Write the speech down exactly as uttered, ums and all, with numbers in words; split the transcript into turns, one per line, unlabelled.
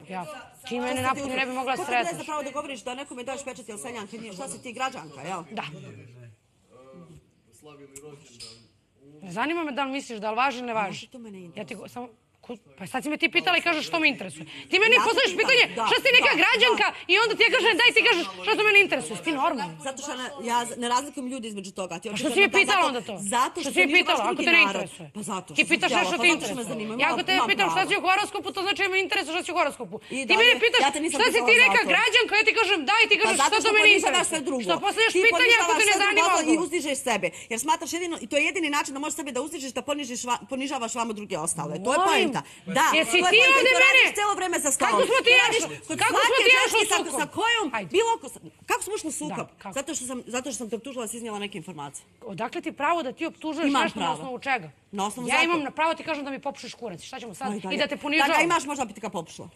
Ja. Ti mene napolju ne bi mogla sretati.
Kako ti ne zapravo da govoriš da nekome daš pečat ili seljanka, šta si ti građanka, jel?
Da. Zanima me da li misliš da li važi ili ne važi.
To mene
Ja ti samo... Pa sad si me ti pitala i kažeš što me interesuje. Ti meni postaviš pitanje što si neka građanka i onda ti ja kažem daj ti kažeš što to mene interesuje. Si ti normalno?
Zato što ja ne razlikujem ljudi između toga.
A što si je pitala onda to?
Zato
što si je pitala ako te ne interesuje?
Pa zato što
ti pitaš sve što te interesuje. Ja ako te pitam šta si u horoskopu, to znači me interesuje šta si u horoskopu. Ti mene pitaš šta si ti neka građanka, ja ti kažem daj ti kažeš što to mene interesuje. Što postavljaš pitanje ako te ne zanima
odgovor. I uzdižeš sebe. Jer smatraš jedino, i to je jedini način da možeš sebe da uzdižeš, da ponižavaš vamo druge ostale. To je poenta. Da.
Jesi ti ovdje mene?
Cijelo vreme za stolom.
Kako smo ti jašli? Kako smo ti jašli u sukob?
Sa kojom, bilo ko... Kako smo ušli u sukob? Zato što sam te optužila da si iznijela neke informacije.
Odakle ti pravo da ti optužuješ nešto na osnovu čega?
Na osnovu
ja imam pravo ti kažem da mi popušiš kurac. Šta ćemo sad? I da te ponižavam.
Da ga imaš možda bi ti ga popušila.